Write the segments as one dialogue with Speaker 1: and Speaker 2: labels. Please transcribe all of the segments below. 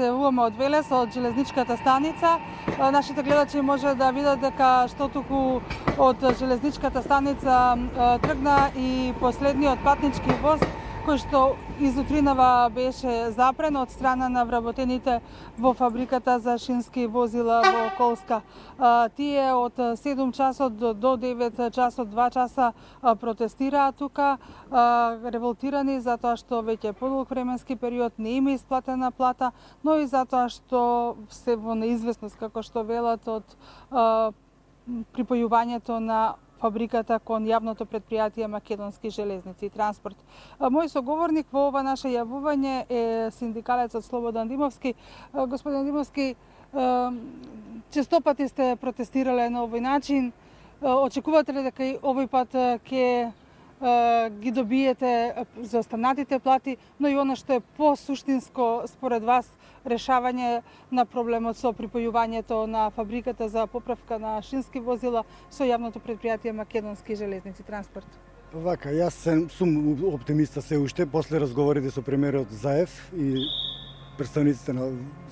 Speaker 1: се јавуваме од Велес, од железничката станица. Нашите гледачи може да видат дека што туку од железничката станица тргна и последниот патнички воз кој што изутринава беше запрен од страна на вработените во фабриката за шински возила во Колска. Тие од 7 часот до 9 часот, 2 часа протестираат тука, револтирани затоа што веќе подолг временски период не има исплатена плата, но и затоа што се во неизвестност, како што велат, од припојувањето на фабриката кон јавното претпријатие Македонски железници и транспорт. Мој соговорник во ова наше јавување е синдикалецот Слободан Димовски. Господин Димовски, честопати сте протестирале на овој начин. Очекувате ли дека и овој пат ќе ги добиете за останатите плати, но и она што е посуштинско според вас решавање на проблемот со припојувањето на фабриката за поправка на шински возила со јавното претпријатие Македонски железници транспорт?
Speaker 2: Вака, јас сум оптимиста се уште после разговорите со премиерот Заев и представниците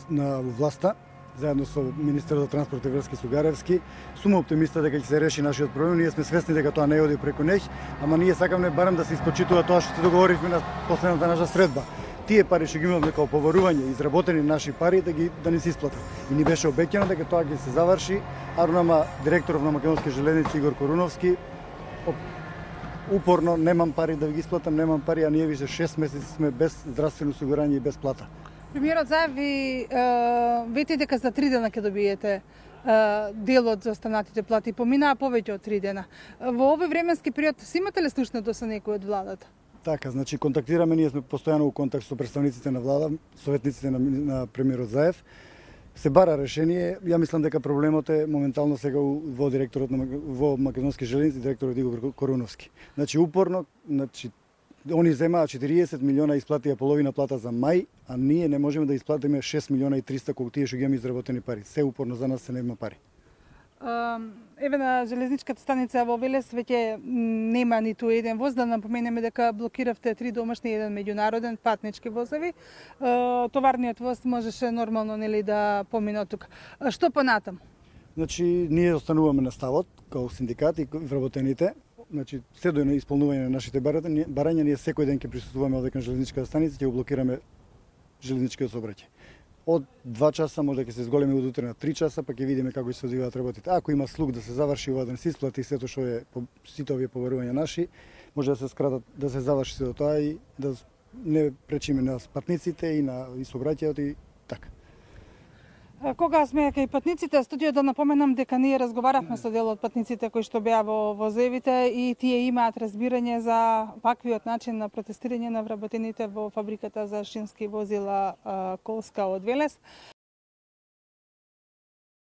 Speaker 2: на власта, заедно со министерот за транспорт и врски Сугаревски. Сум оптимиста дека ќе се реши нашиот проблем. Ние сме свесни дека тоа не оди преку неќ, ама ние сакаме барем да се испочитува тоа што се договоривме на последната наша средба. Тие пари што ги имаме како поварување, изработени наши пари, да ни се исплатат. И ни беше обеќано дека тоа ќе се заврши, а нама директорот на Македонски железници Игор Коруновски упорно немам пари да ги исплатам, немам пари, а ние више 6 месеци сме без здравствено осигурање и без плата.
Speaker 1: Премиерот Заев ви вети дека за 3 дена ќе добиете делот за останатите плати. Поминаа повеќе од 3 дена. Во овој временски период си имате ли слушнато со некој од владата?
Speaker 2: Така, значи контактираме, ние сме постојано во контакт со представниците на влада, советниците на премиерот Заев. Се бара решение. Ја мислам дека проблемот е моментално сега во директорот во Македонски железници, директорот Игор Коруновски. Значи упорно, они земаа 40 милиона, исплатија половина плата за мај, а ние не можеме да исплатиме 6 милиона и 300 колку тие што ги имаме изработени пари. Се упорно за нас се нема пари.
Speaker 1: Еве на железничката станица во Велес веќе нема ниту еден воз. Да напоменеме дека блокиравте 3 домашни и 1 меѓународен патнички возови. Товарниот воз можеше нормално нели да помине од тука. Што понатам?
Speaker 2: Значи ние остануваме на ставот како синдикат и вработените. Значи се до исполнување на нашите барања, ние секој ден ќе присуствуваме овде кон железничката станица, ќе блокираме железничките сообраќај. Од 2 часа може да ќе се зголеми од утре на 3 часа, па ќе видиме како ќе се одвиваат работите. Ако има слух да се заврши ова, да се исплати сето што е сите овие побарувања наши, може да се скратат, да се заврши се до тоа и да не пречиме на патниците и на сообраќајот и така.
Speaker 1: Кога сме кај патниците, студио да напоменам дека ние разговаравме со дел од патниците кои што беа во возевите и тие имаат разбирање за ваквиот начин на протестирање на вработените во фабриката за шински возила Колска од Велес.